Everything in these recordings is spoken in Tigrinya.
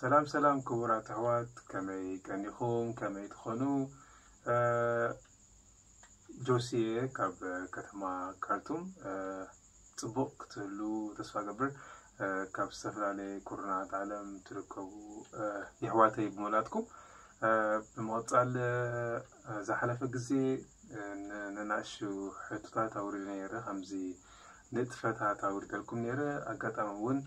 ሰላም ሰላም ክቡራት ኣሕዋት፣ ከመይ ቀኒኹም? ከመይ ትኾኑ? እ፣ ጆሲየ ካብ ከተማ ካርቱም። እ፣ ጽቡቕ ክትህሉ ተስፋ ገብር። እ፣ ካብ ዝተፈላለየ ኩርናዓት ዓለም ትርከቡ፣ እ፣ የሕዋተይ ብምልኣትኩም። እ፣ ብምቕጻል፣ እ፣ ዝሓለፈ ግዜ፣ እ፣ ን-፣ ንናእሹ ሕቶታት ኣውሪደ ነይረ፣ ከምዚ ንጥፈታት ኣውሪደልኩም ነይረ። ኣጋጣሚ እውን፣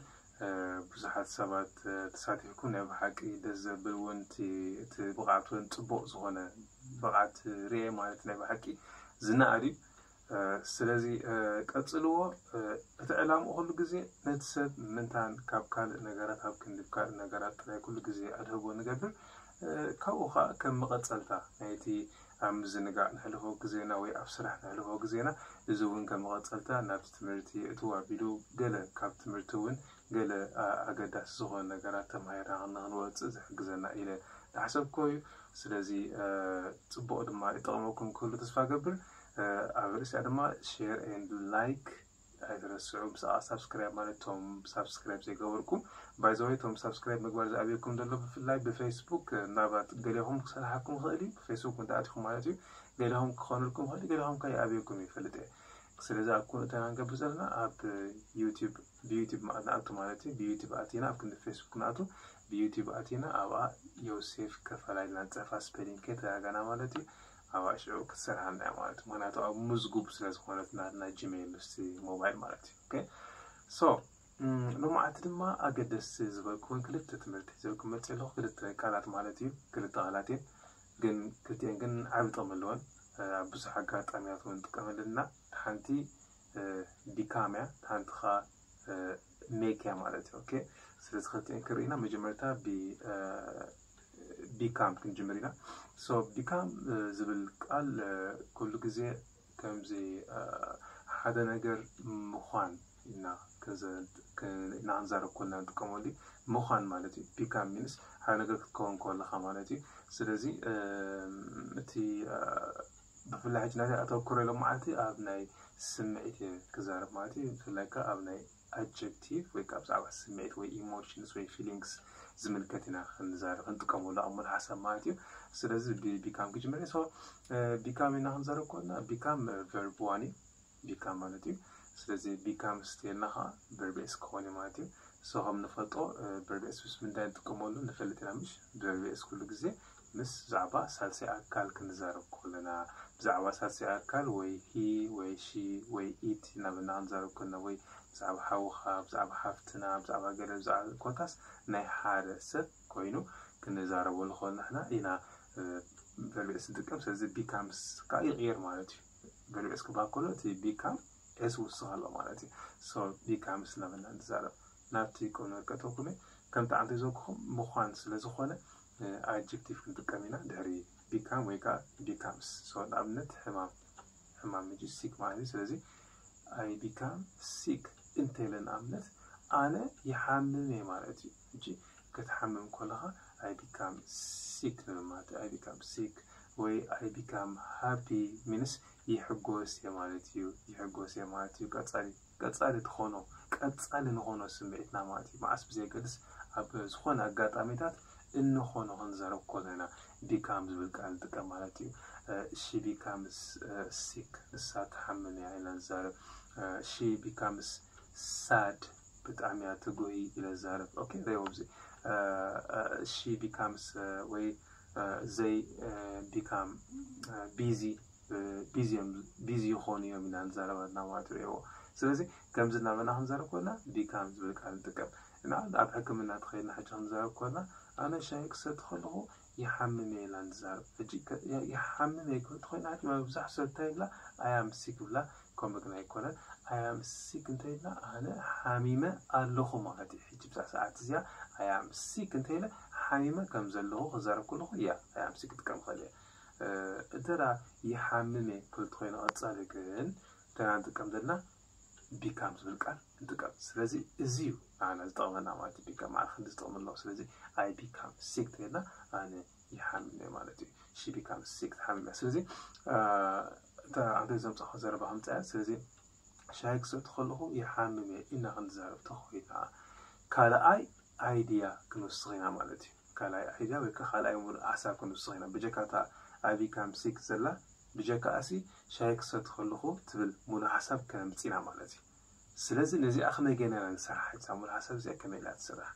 እ፣ ብዙሓት ሰባት፣ እ፣ ተሳቲፍኩም፣ ናይ ብሓቂ ደስ ዘብል እውን እቲ፣ እቲ ብቕዓት እውን ጽቡቕ ዝኾነ ብቕዓት ርኤ ማለት ናይ ብሓቂ ዝነኣድ እዩ። እ፣ ስለዚ፣ እ፣ ቀጽልዎ። እ፣ እቲ ዕላምኡ ኩሉ ግዜ ነቲ ሰብ ምንታን ካብ ካልእ ነገራት ኣብ ክንዲ ካልእ ነገራት ጥራይ ኩሉ ግዜ ኣድህቦ ንገብር። እ፣ ካብኡ ኸኣ ከም መቐጸልታ ናይቲ ኣብ ምዝንጋዕ ነሕልፎ ግዜና ወይ ኣብ ስራሕ ነሕልፎ ግዜና፣ እዚ እውን ከም መቐጸልታ ናብቲ ትምህርቲ እትው ኣቢሉ ገለ ካብ ትምህርቲ እውን ገለ፣ እ፣ ኣገዳሲ ዝኾኑ ነገራት ተማሂርና ንኽንወጽእ ዝሕግዘና ኢለ ዝሓሰብክዎ እዩ። ስለዚ፣ እ፣ ጽቡቕ ድማ ይጠቕመኩም ክህሉ ተስፋ ገብር። እ፣ ኣብ ርእሲኣ ድማ ሼር ኤንድ ላይክ ኣይትረስዑ። ብሰኣ ሳብስክራይብ ማለት እቶም ሳብስክራይብ ዘይገበርኩም፣ ባይ ዘ ወይ እቶም ሳብስክራይብ ምግባር ዝኣብየኩም ዘሎ ብፍላይ ብፌስቡክ፣ እ፣ ምናልባት ገሌኹም ክሰርሓኩም ይኽእል እዩ። ብፌስቡክ እንተኣቲኹም ማለት እዩ። ገሌኹም ክኾኑልኩም ይኽእል እዩ፣ ገሌኹም ከይኣብየኩም ይፈልጥ እየ። ስለዚ ኣብ ኩሉ እተና ንገብር ዘለና ኣብ ዩቲዩብ፣ ብዩቲዩብ ማ-፣ ንኣቱ ማለት እዩ። ብዩቲዩብ ኣቲና ኣብ ክንዲ ፌስቡክ ንኣቱ፣ ብዩቲዩብ ኣቲና ኣብኣ ዮሴፍ ከፈላ ኢልና ንጽሕፋ፣ ስፔሊንግ ከይተጋገና ማለት እዩ። ኣብኣ ሽዑ ክትሰርሓልና እያ ማለት እዩ። ምኽንያቱ ኣብ ምዝጉብ ስለ ዝኾነት ናትና ጂሜይል ምስቲ ሞባይል ማለት እዩ። ኦኬ። ሶ፣ እም፣ ሎማዓንቲ ድማ ኣገደስቲ ዝበልኩውን ክልተ ትምህርቲ ሒዘልኩም መጽእ ኣለኹ። ክልተ ቃላት ማለት እዩ። ክልተ ቃላት እየን። ግን ክልቲኤን ግን ዓቢ ጥቕሚ ኣለወን። እ፣ ኣብ ብዙሕ ኣጋጣሚታት እውን ንጥቀመለን ኢና። ሓንቲ፣ እ፣ ቢካም እያ፣ ሓንቲ ኸኣ፣ እ፣ ሜክ እያ ማለት እዩ። ኦኬ። ስለዚ ክልቲኤን ክርኢና መጀመርታ ቢ-፣ እ፣ ቢካም ክንጅምር ኢና። ሶ ቢካም፣ እ፣ ዝብል ቃል፣ እ፣ ኩሉ ግዜ ከምዚ፣ እ፣ ሓደ ነገር ምዃን ኢና ክንዘ-፣ ክ-፣ ኢና ክንዛረብ ኮና ንጥቀመሉ እዩ። ምዃን ማለት እዩ። ቢካም ሚንስ ሓደ ነገር ክትከውን ከለኻ ማለት እዩ። ስለዚ፣ እ፣ እቲ፣ እ፣ ብፍላይ ሕጂ ናተይ ኣተኩሮ ሎማዓንቲ ኣብ ናይ ስምዒት እየ ክዛረብ ማለት እዩ። ብፍላይ ከኣ ኣብ ናይ ኣጀክቲቭ ወይ ከኣ ብዛዕባ ስምዒት ወይ ኢሞሽንስ ወይ ፊሊንግስ ዝምልከት ኢና ክንዛረብ፣ ክንጥቀመሉ ኣብ ሙሉእ ሓሳብ ማለት እዩ። ስለዚ ቢ-፣ ቢካም ክጅምር እየ። ሶ፣ እ፣ ቢካም ኢና ክንዛረብ ከለና ቢካም፣ እ፣ ቨርብ ዋን እዩ። ቢካም ማለት እዩ። ስለዚ ቢካምስ እንተልና ኸዓ ቨርብ ኤስ ክኾን እዩ ማለት እዩ። ሶ ከም ንፈልጦ፣ እ፣ ቨርብ ኤስ ምስ ምንታይ ንጥቀመሉ ንፈልጥ ኢና ምሽ? ቨርብ ኤስ ኩሉ ግዜ ምስ ብዛዕባ ሳልሳይ ኣካል ክንዛረብ ከለና፣ ብዛዕባ ሳልሳይ ኣካል ወይ ሂ ወይ ሺ ወይ ኢት እናበልና ክንዛረብ ከለና፣ ወይ ብዛዕባ ሓውኻ፣ ብዛዕባ ሓፍትና፣ ብዛዕባ ገለ፣ ብዛዕባ ኮታስ ናይ ሓደ ሰብ ኮይኑ ክንዛረበሉ ከለና ንሕና ኢና፣ እ፣ ቨርብ ኤስ ንጥቀም። ስለዚ ቢካምስ ከኣ ይቕየር ማለት እዩ። ቨርብ ኤስ ክበሃል ከሎ እቲ ቢካም ኤስ ውስኽ ኣሎ ማለት እዩ። ሶ ቢካምስ እናበልና ንዛረብ። ናብቲ ቁም ነገር ከእተወኩም እየ። ከምቲ ዓንተ ዘልኩኹም ምዃን ስለ ዝኾነ፣ እ፣ ኣጀክቲቭ ክንጥቀም ኢና ድሕሪ ቢካም ወይ ከኣ ቢካምስ። ሶ ንኣብነት ሕማም፣ ሕማም ሕጂ ሲክ ማለት እዩ። ስለዚ ኣይ ቢካም ሲክ እንተኢለ ንኣብነት ኣነ ይሓምም እየ ማለት እዩ። ሕጂ ክትሓምም ከለኻ ኣይ ቢካም ሲክ ንብል ማለት እዩ። ኣይ ቢካም ሲክ ወይ ኣይ ቢካም ሃፒ ሚንስ ይሕጎስ እየ ማለት እዩ። ይሕጎስ እየ ማለት እዩ። ቀጻሊ፣ ቀጻሊ ትኾኖ፣ ቀጻሊ ንኾኖ ስምዒትና ማለት እዩ። መዓስ ብዘየገድስ ኣብ ዝኾነ ኣጋጣሚታት እንኾኖ ክንዛረብ ከለና ቢካም ዝብል ቃል ንጥቀም ማለት እዩ። እ፣ ሺ ቢካምስ፣ እ፣ ሲክ፣ ንሳ ትሓምም እያ ኢልና ንዛረብ። እ፣ ሺ ቢካምስ ሳድ፣ ብጣዕሚ እያ ትጉሂ ኢለ ዝዛረብ። ኦኬ፣ ረእይዎ ኣብዚ። እ፣ እ፣ ሺ ቢካምስ፣ እ፣ ወይ፣ እ፣ ዘይ፣ እ፣ ቢካም፣ እ፣ ቢዚ፣ እ፣ ቢዚ እዮም፣ ቢዚ ይኾኑ እዮም ኢና ንዛረብ ኣለና ማለት እዩ። ረእይዎ። ስለዚ ከምዚ እናበልና ክንዛረብ ከለና ቢካም ዝብል ቃል ንጥቀም። እና ኣብ ሕክምና ተኸይድና ሕጂ ክንዛረብ ከለና ኣነ ሻሂ ክሰቲ ከለኹ ይሓምም እየ ኢልና ንዛረብ። ሕጂ ከ-፣ ያ-፣ ይሓምም እየ ክብል ተኾይና ሕጂ መብዛሕትኡ ሰብ እንታይ ይብላ? ኣይ ኣም ሲክ ይብላ። ከምኡ ግን ኣይኮነን። ኣይ ኣም ሲክ እንተኢልና ኣነ ሓሚመ ኣለኹ ማለት እዩ። ሕጂ ብዛ ሰዓት እዚኣ ኣይ ኣም ሲክ እንተኢለ ሓሚመ ከም ዘለኹ ክዛረብ ከለኹ እያ ኣይ ኣም ሲክ ክጥቀም ክእል እየ። እ፣ እንተ ደኣ ይሓምም እየ ክብል ተኾይኑ ቀጻሊ ግን እንተ ደኣ ንጥቀም ዘለና ቢካም ዝብል ቃል ንጥቀም። ስለዚ እዚ እዩ ንዓና ዝጠቕመና ማለት እዩ። ቢካም ማዕረ ክንዲ ዝጠቕመና ኣለዎ። ስለዚ ኣይ ቢካም ሲክ እንተኢልና ኣነ ይሓምም እየ ማለት እዩ። ሺ ቢካም ሲክ ትሓምም እያ። ስለዚ፣ እ፣ እታ ዓንተ ዘምጻእኩ ዘረባ ከምጽኣ እያ። ስለዚ ሻሂ ክሰቲ ከለኹ ይሓምም እየ ኢና ክንዛረብ ተኾይና። ካልኣይ idea ክንውስኽ ኢና ማለት እዩ። ካልኣይ idea ወይ ከዓ ካልኣይ ሙሉእ ሓሳብ ክንውስኽ ኢና። ብጀካ እታ I become sick ዘላ፣ ብጀካ ኣሲ ሻሂ ክሰቲ ከለኹ ትብል ሙሉእ ሓሳብ ከነምጽእ ኢና ማለት እዩ። ስለዚ ነዚኣ ከመይ ገይርና ኢና ንሰርሓ? እዛ ሙሉእ ሓሳብ እዚኣ ከመይ ኢላ ትስራሕ?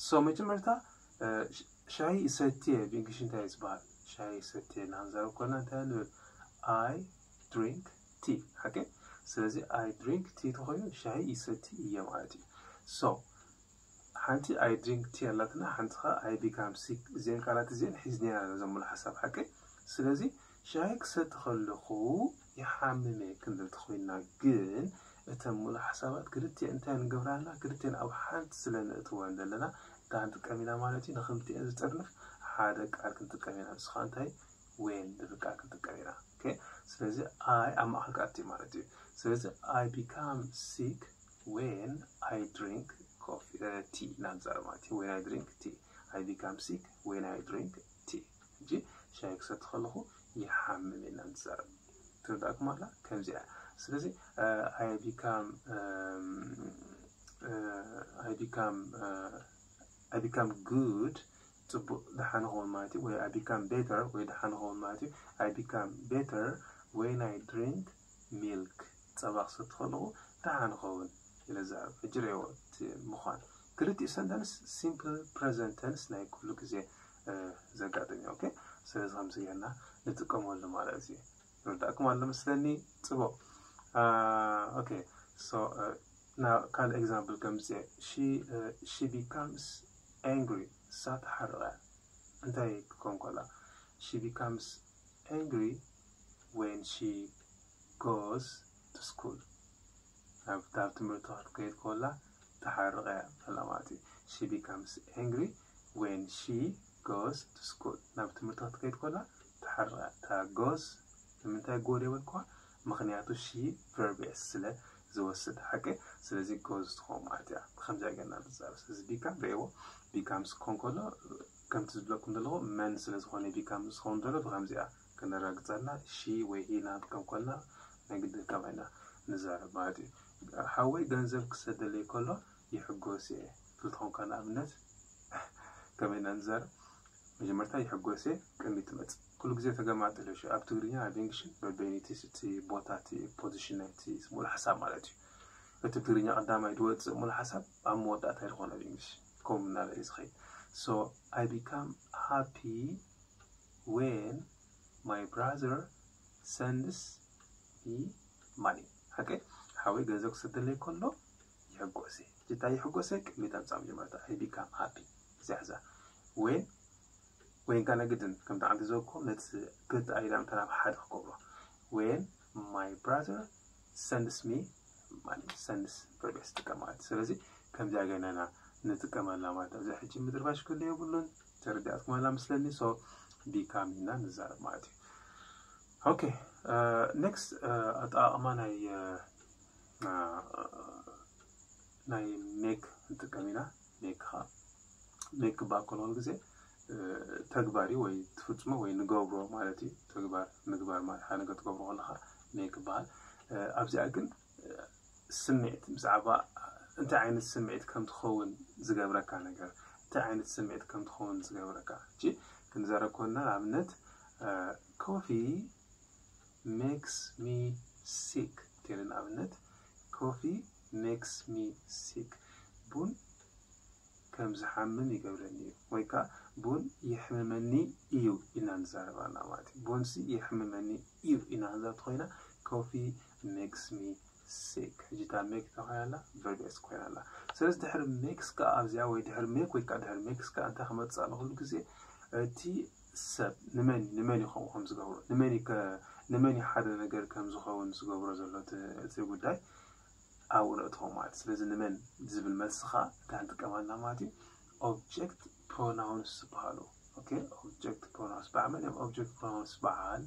So መጀመርታ እ፣ ሻሂ ይሰትየ ብእንግሊሽ እንታይ እዩ ዝበሃል? ሻሂ ይሰትየ እናንዛረብ ከለና እንታይ ንብል? I drink tea። ሓቂ? ስለዚ I drink tea ተኾይኑ ሻሂ ይሰቲ እየ ማለት እዩ። So ሓንቲ I drink tea ኣላትና፣ ሓንቲ ኸዓ I become sick። እዚአን ቃላት እዚአን ሒዝና ኢና ነዘን ሙሉእ ሓሳብ፣ ሓቂ? ስለዚ ሻሂ ክሰቲ ከለኹ ይሓምም እየ ክንብል ተኾይንና ግን እተን ሙሉእ ሓሳባት ክልቲአን እንታይ ንገብራና? ክልቲአን ኣብ ሓንቲ ስለ ነእትወን ዘለና እንታይ ክንጥቀም ኢና ማለት እዩ? ንክልቲአን ዝጥርንፍ ሓደ ቃል ክንጥቀም ኢና። ንሱ ኸዓ እንታይ? When ዝብል ቃል ክንጥቀም ኢና። Okay? ስለዚ I ኣብ ማእኸል ክኣቱ እዩ ማለት እዩ። ስለዚ I become sick when I drink coffee, እ፣ tea ኢና ንዛረብ ማለት እዩ። When I drink tea። I become sick when I drink tea። ሕጂ ሻሂ ክሰቲ ከለኹ ይሓምም እየ ኢና ንዛረብ። ትርዳእኩም ኣላ? ከምዚኣ። ስለዚ I become I become I become good፣ ፅቡቅ፣ ደሓን ኸውን ማለት እዩ። ወይ I become better፣ ወይ ደሓን ኸውን ማለት እዩ። I become better when I drink milk፣ ፀባ ክሰቲ ከለኹ ደሓን ኸውን ኢለ ዝዛረብ። ሕጂ ርእይዎ እቲ ምዃን። ክልቲኡ sentence simple present tense ናይ ኩሉ ግዜ ዘጋጥም እዩ። Okay? ስለዚ ከምዚ ጌርና ንጥቀመሉ ማለት እዩ። ይርዳእኩም ኣሎ መስለኒ። ፅቡቅ። Okay, so ካልእ example ከምፅእ። She becomes angry፣ እሳ ትሓርቕ እያ። እንታይ ክትኮን ከላ? She becomes angry when she goes to school። ናብ ትምህርቲ ክትከይድ ከላ ትሓርቕ እያ በላ ማለት እዩ። She becomes angry when she goes to school። ናብ ትምህርቲ ክትከይድ ከላ ትሓርቕ እያ። እታ goes ንምንታይ go ደይበልኩዋ? ምኽንያቱ she verb s ስለ ዝወስድ፣ ሓቂ? ስለዚ goes ትኸውን ማለት እያ። ብኸምዚኣ ጌርና ንዛረብ። ስለዚ become ርእይዎ፣ becomes ክኾን ከሎ ከምቲ ዝብለኩም ዘለኹ መን ስለ ዝኾነ become ዝኸውን ዘሎ ብኸምዚኣ ከነረጋግጸልና፣ she ወይ he ንክንጥቀም ከለና ናይ ግድን ከምኣ ኢና ንዛረብ ማለት እዩ። ሓወይ ገንዘብ ክሰደለይ ከሎ ይሕጎስ እየ። ክትኾን ከላ ኣብነት ከመይ ኢና ንዛረብ? መጀመርታ ይሕጎስ እየ ቅድሚት ትመጽእ። ኩሉ ግዜ ተገማጥል እሺ። ኣብ ትግርኛ ኣብ እንግሊሽ በበይኑ እቲ፣ እቲ ቦታ፣ እቲ position ናይቲ ሙሉእ ሓሳብ ማለት እዩ። እቲ ትግርኛ ቀዳማይ ዝወጽእ ሙሉእ ሓሳብ ኣብ መወዳእታ ዝኾነ ኣብ እንግሊሽ ከምኡ እናበለ እዩ ዝኸይድ። So I become happy when my brother sends me money። ሓቂ? ሓወይ ገንዘብ ክሰደለይ ከሎ ይሕጎስ እየ። ሕጂ እንታይ ይሕጎስ እየ? ቅድሚት ኣምጻእ መጀመርታ። I become happy። እዚኣ ሕዛ። When፣ when ከኣ ናይ ግድን ከምቲ ዓንዲ ዘበልኩኹም ነቲ ክልተ ኣኢዳ ምእንታን ኣብ ሓደ ክገብሮ። When my brother sends me money። Sends verb s ትጥቀም ማለት እዩ። ስለዚ ከምዚኣ ጌርና ኢና ንጥቀመላ ማለት እዩ። ኣብዚ ሕጂ ምድርባሽ ክህሉ የብሉን። ተረዲኣትኩም ኣላ መስለኒ። So become ኢና ንዛረብ ማለት እዩ። Okay, next ኣጠቓቕማ ናይ፣ ናይ make ንጥቀም ኢና። Make ኸዓ፣ make ክበሃል ከሎ ኩሉ ግዜ ተግባር እዩ፣ ወይ ትፍጽሞ ወይ ንገብሮ ማለት እዩ። ተግባር ምግባር ማለት ሓደ ነገር ትገብሮ ከለኻ make ይበሃል። ኣብዚኣ ግን ስምዒት፣ ብዛዕባ እንታይ ዓይነት ስምዒት ከም ትኸውን ዝገብረካ ነገር፣ እንታይ ዓይነት ስምዒት ከም ትኸውን ዝገብረካ። ሕጂ ክንዛረብ ከለና ንኣብነት coffee makes me sick እንተይለ ንኣብነት coffee makes me sick፣ ቡን ከም ዝሓምም ይገብረኒ እዩ፣ ወይ ከዓ ቡን የሕምመኒ እዩ ኢና ንዛረብ ኣለና ማለት እዩ። ቡንሲ የሕምመኒ እዩ ኢና ክንዛረብ ተኾይና coffee makes me sick። ሕጂ እታ make እንታይ ኮይና ኣላ? Verb s ኮይና ኣላ። ስለዚ ድሕሪ makes ከዓ ኣብዚኣ ወይ ድሕሪ make ወይ ከዓ ድሕሪ makes ከዓ እንታይ ክመፅእ ኣሎ ኩሉ ግዜ? እቲ ሰብ ንመን፣ ንመን እዩ ከምኡ ከም ዝገብሮ? ንመን እዩ ከ-፣ ንመን እዩ ሓደ ነገር ከም ዝኸውን ዝገብሮ ዘሎ እቲ፣ እቲ ጉዳይ ኣብኡ ነእትዎ ማለት እዩ። ስለዚ ንመን ዝብል መልሲ ከዓ እንታይ ንጥቀም ኣለና ማለት እዩ? Object pronouns ዝበሃሉ። Okay? Object pronouns። በዓል መን እዮም object pronouns? በዓል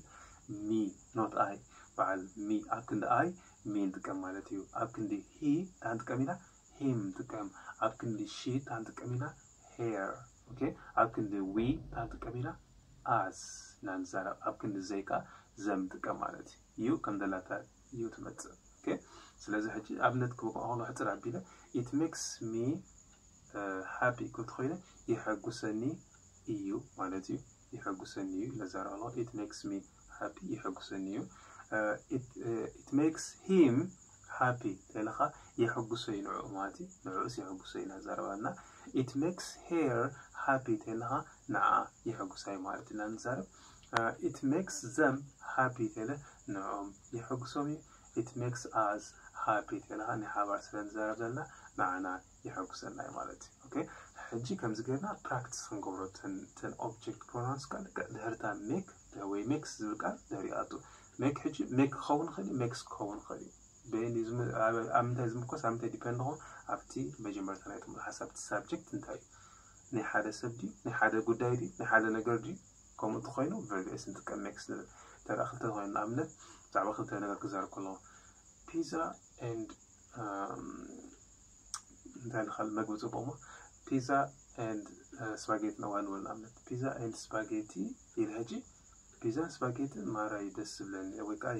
me፣ not I። በዓል me። ኣብ ክንዲ I፣ me ንጥቀም ማለት እዩ። ኣብ ክንዲ he እንታይ ንጥቀም ኢና? Him ንጥቀም። ኣብ ክንዲ she እንታይ ንጥቀም ኢና? Her። Okay? ኣብ ክንዲ we እንታይ ንጥቀም ኢና? Us ኢና ንዛረብ። ኣብ ክንዲ they ከዓ them ንጥቀም ማለት እዩ። You ከም ዘላታ you ትመጽእ። Okay? ስለዚ ሕጂ ኣብነት ክበቅዖ ከሎ ሕጽር ኣቢለ፣ it makes me ሃፒ ክትኮይነ የሐጉሰኒ እዩ ማለት እዩ። የሐጉሰኒ እዩ ኢለ ዛረብ ኣለኹ። It makes me happy፣ የሐጉሰኒ እዩ። It makes him happy ተለኻ የሐጉሶ እዩ ንዕኡ ማለት እዩ። ንዕኡስ የሐጉሶ እዩ እናዛረባና። It makes her happy ተለኻ ንዓ የሐጉሳ እዩ ማለት ኢና ንዛረብ። It makes them happy ተለ ንዕኦም የሐጉሶም እዩ። It makes us happy ተለኻ ናይ ሓባር ስለ ንዛረብ ዘለና ንዓና የሐጉሰና እዩ ማለት እዩ። ኦኬ፣ ሕጂ ከምዚ ጌርና ፕራክቲስ ክንገብሮ ተን object pronouns ቃል ድሕርታ make ወይ makes ዝብል ቃል ድሕሪኣቱ make ሕጂ make ክኸውን ይኽእል እዩ፣ makes ክኸውን ይኽእል እዩ። በየን ኣብ ምንታይ ዝምኮስ ኣብ ምንታይ ዲፐንድ ኾን ኣብቲ መጀመርታ ናይ ጥሙር ሓሳብ እቲ ሳብጀክት እንታይ እዩ? ናይ ሓደ ሰብ ድዩ? ናይ ሓደ ጉዳይ ድዩ? ናይ ሓደ ነገር ድዩ? ከምኡ እንተኾይኑ ቨርብ ኤስ ንጥቀም makes ንብል። ተራ ክልተ ኮይኑ ንኣብነት ብዛዕባ ክልተ ነገር ክዛረብ ከለኹ ፒዛ and እንታይ ልኻል መግቢ ጽቡቕ ሞ ፒዛ and ስፓጌቲ ነዋ ንብል ንኣብነት ፒዛ and ስፓጌቲ ኢለ ሕጂ ፒዛን ስፓጌትን ማራ እዩ ደስ ዝብለኒ ወይ ከዓ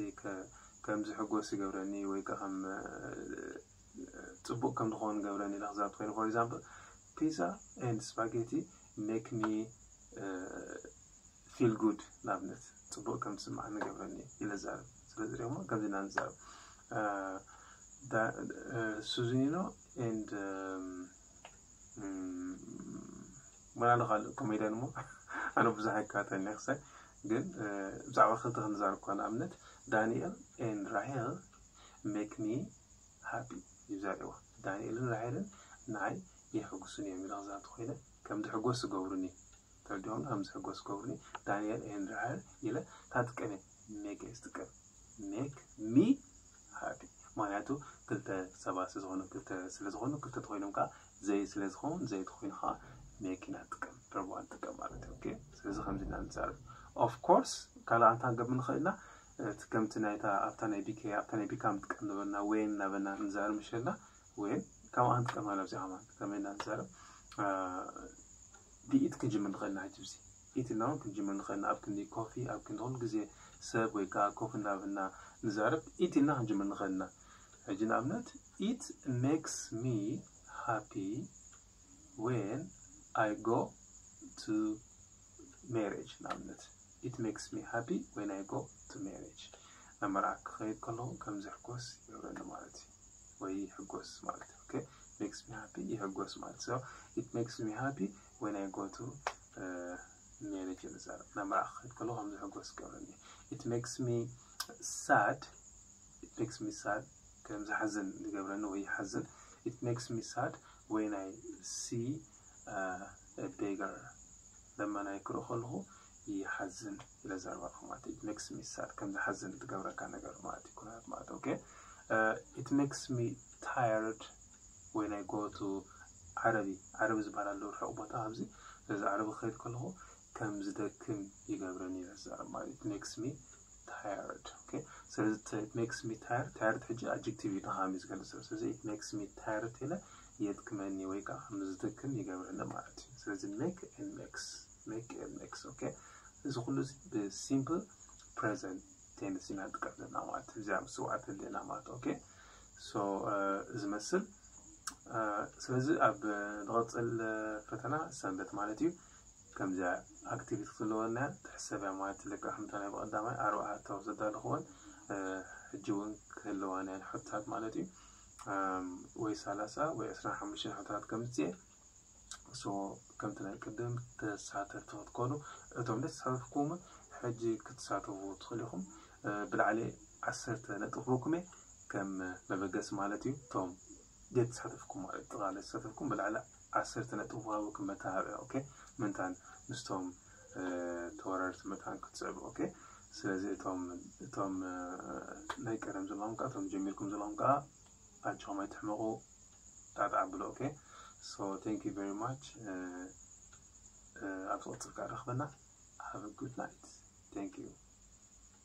ከምዚ ሕጎስ ይገብረኒ ወይ ከዓ ከም ጽቡቕ ከም ዝኸውን ገብረኒ ኢለ ክዛረብ ኮይኑ for example pizza and spaghetti make me feel good ንኣብነት ጽቡቕ ከም ዝስማዕ ንገብረኒ ኢለ ዛረብ። ስለዚ ደግሞ ከምዚ ኢና ንዛረብ። ሱዚኒኖ and መናሉ ካልእ ኮሜድያን እሞ ኣነ ብዙሕ ኣይከታተልን ክሳይ ግን ብዛዕባ ክልተ ክንዛረብ እኳ ንኣብነት ዳንኤል and ራሄል make me happy ይዛረብዋ። ዳንኤልን ራሄልን ንዓይ የሕጉሱን እዮም ኢለ ክዛረብ ኮይነ ከም ዝሕጎስ ዝገብሩኒ ተረዲኦም ከም ዝሕጎስ ዝገብሩኒ ዳንኤል and ራሄል ኢለ ታጥቀመ make ዝጥቀም make me happy ምክንያቱ ክልተ ሰባት ስለዝኾኑ ክልተ ስለዝኾኑ ክልተ ተኮይኖም ከዓ ዘይ ስለዝኸውን ዘይ ተኮይኑ ከዓ make ኢና ጥቀም verb one ጥቀም ማለት እዩ። ስለዚ ከምዚ ኢና ንዛረብ። Of course ካልእ ኣንታ ንገብር ንኽእል ኢና እቲ ከምቲ ናይታ ኣብታ ናይ ቢኬ ኣብታ ናይ ቢካ ምጥቀም ነበርና when እናበልና ንዛረብ ምሸልና when ካብ ኣንጥቀም ኣለብዚ ከማን ከመይ ኢና ንዛረብ ብኢት ክንጅምር ንኽእል ኢና ሕጂ ብዚ ኢት ኢልና እውን ክንጅምር ንኽእል ኢና ኣብ ክንዲ ኮፊ ኣብ ክንዲ ኩሉ ግዜ ሰብ ወይ ከዓ ኮፊ እናበልና ንዛረብ ኢት ኢልና ክንጅምር ንኽእል ኢና። ሕጂ ንኣብነት it makes me happy when I go to marriage ንኣብነት it makes me happy when I go to marriage ናብ መርዓ ክኸይድ ከለኹ ከም ዝሕጎስ ይገብረኒ ማለት እዩ ወይ ይሕጎስ ማለት እዩ። Okay makes me happy ይሕጎስ ማለት so it makes me happy when I go to marriage ንዛረብ ናብ መርዓ ክኸይድ ከለኹ ከም ዝሕጎስ ይገብረኒ። It makes me sad it makes me sad ከም ዝሓዝን ዝገብረኒ ወይ ይሓዝን። It makes me sad when I see a beggar ለማናይ ክርኢ ከለኹ ይሓዝን ኢለ ዘርባልኩ ማለት እዩ። It makes me sad ከም ዝሓዝን ዝገብረካ ነገር ማለት እዩ ኩነታት ማለት okay it makes me tired when I go to ዓረቢ ዓረቢ ዝበሃል ኣሎ ርሑቕ ቦታ ኣብዚ ስለዚ ዓረቢ ክኸይድ ከለኹ ከም ዝደክም ይገብረኒ ኢለ ዝዛረብ ማለት እዩ። It makes me tired okay ስለዚ makes me tired tired ሕጂ adjective እዩ ድኻም እዩ ዝገልጽ ስለዚ it makes me tired ኢለ የድክመኒ ወይ ከዓ ከም ዝደክም ይገብረኒ ማለት እዩ። ስለዚ make and makes make and makes okay እዚ ኩሉ ብ simple present tense ኢና ንጥቀም ዘለና ማለት እዩ። እዚኣ ምስ ስውዓት ህልየና ማለት okay so ዝመስል ስለዚ ኣብ ዝቐፅል ፈተና ሰንበት ማለት እዩ ከምዚኣ activity ክትህልወና ትሕሰብ እያ ማለት ለካ ከምታ ናይ ብቐዳማይ ኣርባዕተ ኣተው ዘዳለኽወን ሕጂ እውን ክህልዋን እየን ሕቶታት ማለት እዩ ወይ ሰላሳ ወይ ዕስራን ሓሙሽተን ሕቶታት ከምፅእ so ከምቲ ናይ ቅድም ተሳተፍቲ ክትኮኑ እቶም ደስ ዝሓለፍኩምን ሕጂ ክትሳተፉ ትኽእሉ ኢኹም ብላዕሊ ዓሰርተ ነጥብ ክህበኩም እየ ከም መበገሲ ማለት እዩ እቶም ዘይተሳተፍኩም ማለት ጥቓለ ዝሳተፍኩም ብላዕሊ ዓሰርተ ነጥብ ክህበኩም መተሃብያ okay ምንታን ምስቶም ተወራርቲ መታን ክትስዕቡ okay ስለዚ እቶም እቶም ናይ ቀደም ዘለኹም ከዓ እቶም ጀሚርኩም ዘለኹም ከዓ ኣጆኹም ኣይትሕመቑ ጣጣ ኣብሉ okay so thank you very much ኣብ ዝቕፅል ከዓ ረኽበና have a good night thank you